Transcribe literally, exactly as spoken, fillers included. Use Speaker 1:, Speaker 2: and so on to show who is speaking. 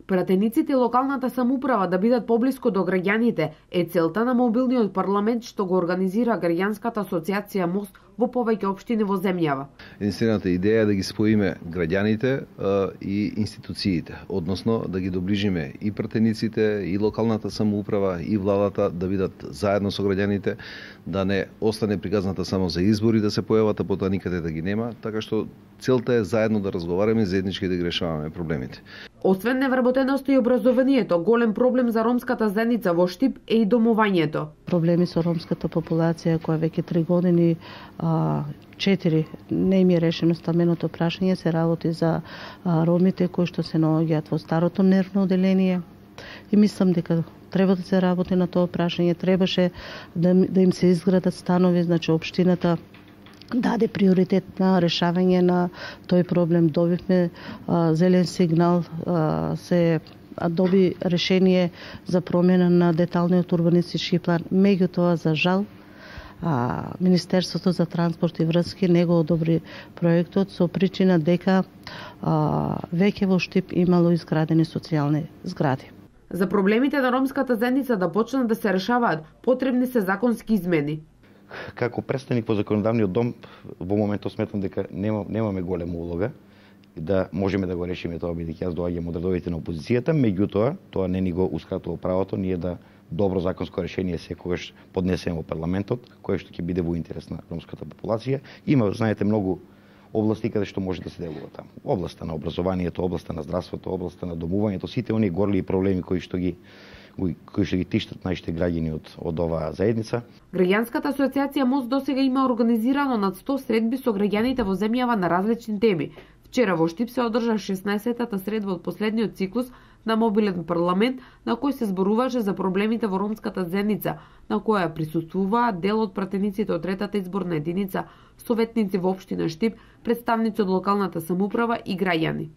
Speaker 1: Пратениците и локалната самоуправа да бидат поблиску до граѓаните е целта на мобилниот парламент што го организира Граѓанската асоциација МОСТ во повеќе општини во земјава.
Speaker 2: Единствената идеја е да ги споиме граѓаните а, и институциите, односно да ги доближиме и пратениците, и локалната самоуправа, и владата да бидат заедно со граѓаните, да не остане приказната само за избори да се појават, а потоа никаде да ги нема, така што целта е заедно да разговараме, заеднички да ги решаваме проблемите.
Speaker 1: Освен невработеноста и образованието, голем проблем за ромската заедница во Штип е и домувањето.
Speaker 3: Проблеми со ромската популација која веќе три години, а, четири не им е решено стамбеното прашање, се работи за а, ромите кои што се наоѓаат во старото нервно оделение. И мислам дека треба да се работи на тоа прашање, требаше да, да им се изградат станови, значи општината даде приоритет на решавање на тој проблем. Добивме а, зелен сигнал, а, се доби решение за промена на деталниот урбанистички план. Меѓутоа, за жал, а, Министерството за транспорт и врски не го одобри проектот со причина дека а, веќе во Штип имало изградени социјални згради.
Speaker 1: За проблемите на ромската заедница да почнат да се решаваат, потребни се законски измени.
Speaker 4: Како представник во законодавниот дом, во моментот сметам дека нема, немаме голема улога и да можеме да го решиме тоа, бидејќи јас доаѓам од редовите на опозицијата, меѓутоа тоа не ни го ускратува правото ние да добро законско решение секогаш поднесеме во парламентот, кое што ќе биде во интерес на ромската популација. Има, знаете, многу области каде што може да се делува таму. Областа на образованието, областа на здравството, областа на домувањето, сите оние горли проблеми кои што ги кои што ги тиштат нашите граѓани од, од оваа заедница.
Speaker 1: Граѓанската асоциација МОСТ досега има организирано над сто средби со граѓаните во земјава на различни теми. Вчера во Штип се одржа шеснаесеттата средба од последниот циклус на мобилен парламент, на кој се зборуваше за проблемите во ромската заедница, на која присуствуваа дел од пратениците од третата изборна единица, советници во општина Штип, представници од локалната самоуправа и граѓани.